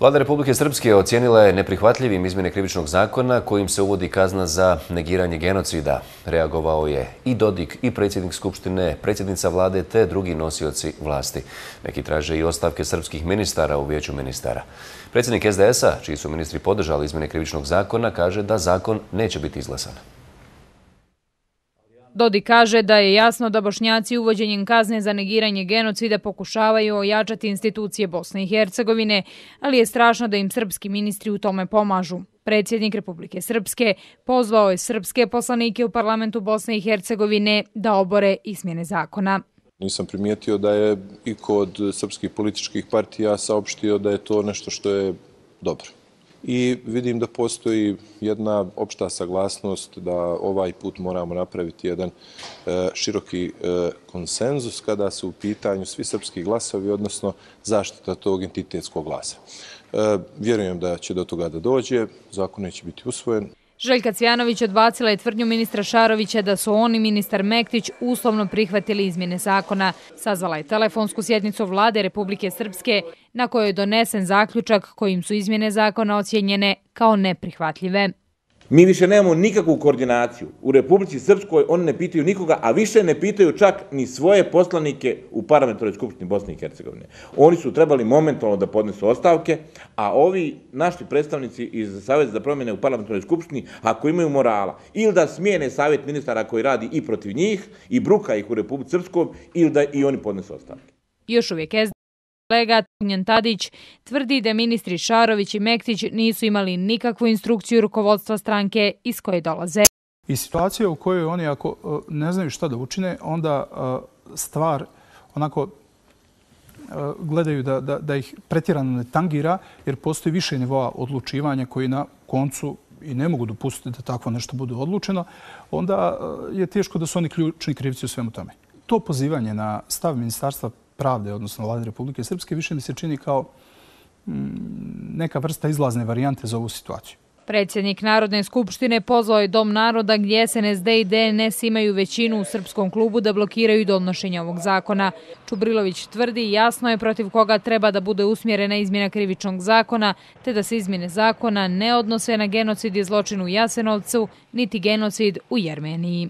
Vlada Republike Srpske ocijenila je neprihvatljivim izmjene krivičnog zakona kojim se uvodi kazna za negiranje genocida. Reagovao je i Dodik i predsjednik Skupštine, predsjednica vlade te drugi nosioci vlasti. Neki traže i ostavke srpskih ministara u vijeću ministara. Predsjednik SDS-a, čiji su ministri podržali izmjene krivičnog zakona, kaže da zakon neće biti izglasan. Dodik kaže da je jasno da Bošnjaci uvođenjem kazne za negiranje genocida pokušavaju ojačati institucije Bosne i Hercegovine, ali je strašno da im srpski ministri u tome pomažu. Predsjednik Republike Srpske pozvao je srpske poslanike u parlamentu Bosne i Hercegovine da obore izmjene zakona. Nisam primijetio da je iko od srpskih političkih partija saopštio da je to nešto što je dobro. I vidim da postoji jedna opšta saglasnost da ovaj put moramo napraviti jedan široki konsenzus kada su u pitanju svi srpski glasovi, odnosno zaštita tog entitetskog glasa. Vjerujem da će do toga da dođe, zakon neće biti usvojen. Željka Cvjanović odbacila je tvrdnju ministra Šarovića da su on i ministar Mektić uslovno prihvatili izmjene zakona. Sazvala je telefonsku sjednicu vlade Republike Srpske na kojoj je donesen zaključak kojim su izmjene zakona ocijenjene kao neprihvatljive. Mi više nemamo nikakvu koordinaciju. U Republici Srpskoj oni ne pitaju nikoga, a više ne pitaju čak ni svoje poslanike u parlamentarnoj skupštini Bosne i Hercegovine. Oni su trebali momentalno da podnesu ostavke, a ovi naši predstavnici iz Saveza za promjene u parlamentarnoj skupštini, ako imaju morala, ili da smijene savjet ministara koji radi i protiv njih i bruka ih u Republici Srpskoj, ili da i oni podnesu ostavke. Još uvijek kolega Ognjen Tadić tvrdi da ministri Šarović i Mektić nisu imali nikakvu instrukciju rukovodstva stranke iz koje dolaze. I situacija u kojoj oni ako ne znaju šta da učine, onda stvar onako gledaju da ih pretjerano ne tangira, jer postoji više nivoa odlučivanja koji na koncu i ne mogu dopustiti da takvo nešto bude odlučeno, onda je teško da su oni ključni krivci u svemu tome. To pozivanje na stav Ministarstva pravde, odnosno Vlade Republike Srpske, više mi se čini kao neka vrsta izlazne varijante za ovu situaciju. Predsjednik Narodne skupštine pozvao je Dom naroda gdje SNSD i DNS imaju većinu u srpskom klubu da blokiraju donošenje ovog zakona. Čubrilović tvrdi jasno je protiv koga treba da bude usmjerena izmjena krivičnog zakona, te da se izmjene zakona ne odnose na genocid i zločin u Jasenovcu, niti genocid u Jermeniji.